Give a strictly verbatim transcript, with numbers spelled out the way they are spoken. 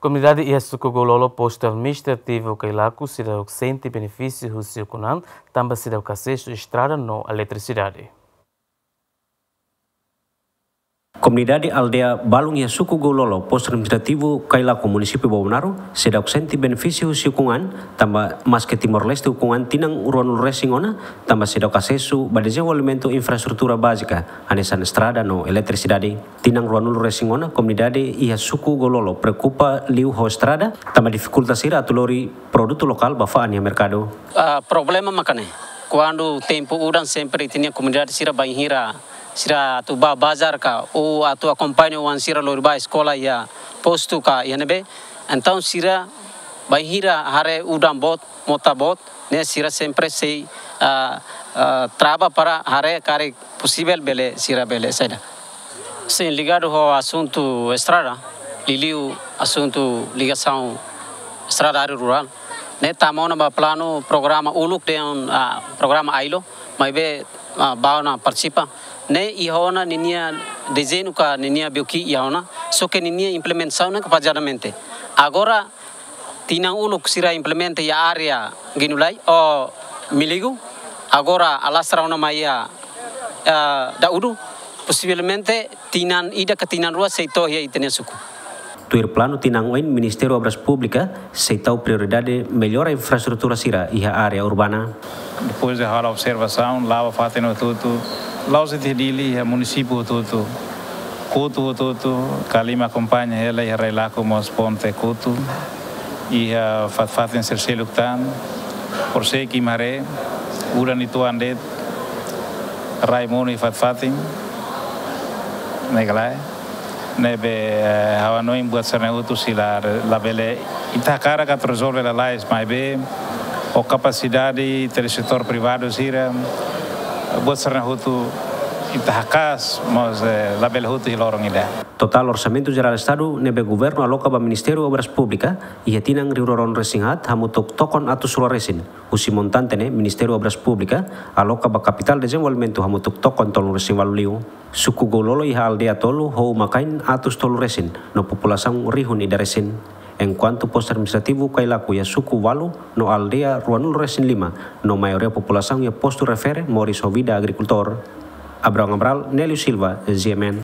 Komunidade iha suku Goulolo, postu administrativu Kailaku, seidauk sente benefísiu husi ukun an, tanba seidauk asesu estrada no eletrisidade. Komunidade aldeia Balun iha suku Goulolo, postu administrativu Kailaku, munisípiu Bobonaro, seidauk sente benefísiu husi ukun an, tanba maske Timor-Leste ukun an tinan ruanulu-resin-ona, tanba seidauk asesu ba dezenvolvimentu infraestrutura bázika, hanesan estrada no eletrisidade. Tinan ruanulu-resin-ona, komunidade iha suku Goulolo preokupa liu ho estrada, tanba difikulta sira atu lori produtu lokál ba fa'an iha merkadu. Ah, problema mak ne'e. Kuandu tempu udan sempre ita-nia komunidade sira bainhira sira atu bá bazár ka, ou atu akompaña oan sira lori bá eskola iha postu ka iha ne'ebé. Entaun sira bainhira haree udan boot, mota boot, ne'e sira sempre sei, ah, ah, trava para haree karik posivel bele, sira bele saida. Sin, ligadu ho asuntu estrada, liuliu asuntu ligasaun estrada área rurál. Ne'e tama ona ba planu programa uluk dehan, ah, programa AILO, maibé, ah, bá ona partisipa. Ne'e iha ona ninia dezeñu ka ninia B O Q iha ona, só ke ninia implementasaun ne'e kapazadamente. Agora, tinan uluk sira implementa iha área Genulai, ou Miligu, agora alastra ona mai iha, eh, Daudu, posivelmente tinan ida ka tinan rua sei to'o iha ita-nia suku. Tuir planu tinan oin, Ministériu Obras Públikas sei tau prioridade mellora infraestrutura sira iha área urbana. Depois de halo observasaun, la'o ba fatin hotu-hotu, la'ós de'it iha Dili, iha munisípiu hotu-hotu, Kotu hotu-hotu, Kalima akompaña hela, iha Railaku mós ponte Kotu, iha fatin-fatin sira seluk tan, Porseki, Maré, udan uitoan de'it, rai monu iha fatin-fatin, ne'e ka lae. Ne'ebé, eh, ha'u hanoin buat sira-ne'e hotu sei la, labele ita hakarak atu rezolve lalais, maibé ho kapasidade ita-nia setór privadu sira, buat sira-ne'e hotu ita haka'as, mas, eh, labele hotu iha loron ida. Totál orsamentu jerál Estadu ne'ebé governu aloka ba Ministériu Obras Públikas iha tinan rihun rua ruanulu-resin-haat hamutuk tokon atus rua resin. Husi montante ne'e, Ministériu Obras Públikas aloka ba kapitál dezenvolvimentu hamutuk tokon tolunulu-resin-ualu liu. Suku Goulolo iha aldeia tolu ho uma-kain atus tolu resin no populasaun rihun ida resin. Enkuantu postu administrativu Kailaku iha suku ualu no aldeia ruanulu-resin-lima, no maioria populasaun iha postu refere moris ho vida agrikultór. Abraão Amaral, Nélio Silva, G M N.